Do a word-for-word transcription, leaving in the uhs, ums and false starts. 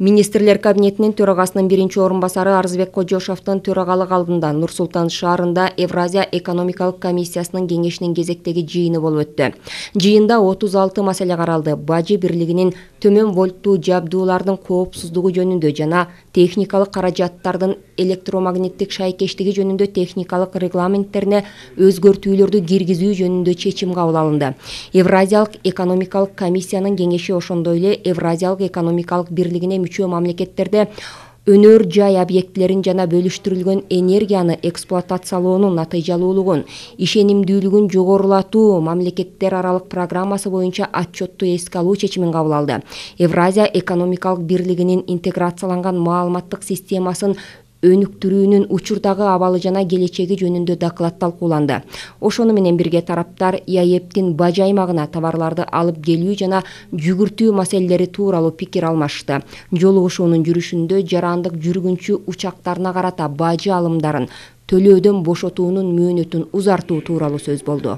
Министрлер кабинетинин төрагасынын биринчи орун басары Арызбек Кожошовдун төрагалык алдында Нур-Султан шаарында Евразия экономикалык комиссиясынын кеңешинин кезектеги жыйыны болуп өттү. Жыйында отуз алты маселе каралды. Бажы бирлигинин төмөн вольттуу жабдуулардын коопсуздугу жөнүндө жана техникалык каражаттардын электромагниттик шайкештиги жөнүндө техникалык регламенттерине өзгөртүүлөрдү киргизүү жөнүндө чечим кабыл алынды. Евразиялык экономикалык комиссиянын кеңеши ошондой эле Евразиялык экономикалык бирлигине мүчө мамлекеттерде өнөр жай объектилерин жана бөлүштүрүлгөн энергияны эксплуатациялоонун натыйжалуулугун, ишенимдүүлүгүн жогорулатуу мамлекеттер аралык программасы боюнча отчетту эске алуу чечимин кабыл алды. Евразия экономикалык бирлигинин интеграцияланган маалыматтык системасын өнүктүрүүнүн учурдагы абалы жана келечеги жөнүндө доклад талкууланды. Ошону менен бирге тараптар ИАЭПтин бажы аймагына товарларды алып келүү жана жүгүртүү маселелери тууралуу пикир алмашты. Жолугушуунун жүрүшүндө жарандык жүргүнчү учактарына карата бажы алымдарын төлөөдөн бошотуунун мөөнөтүн узартуу тууралуу сөз болду.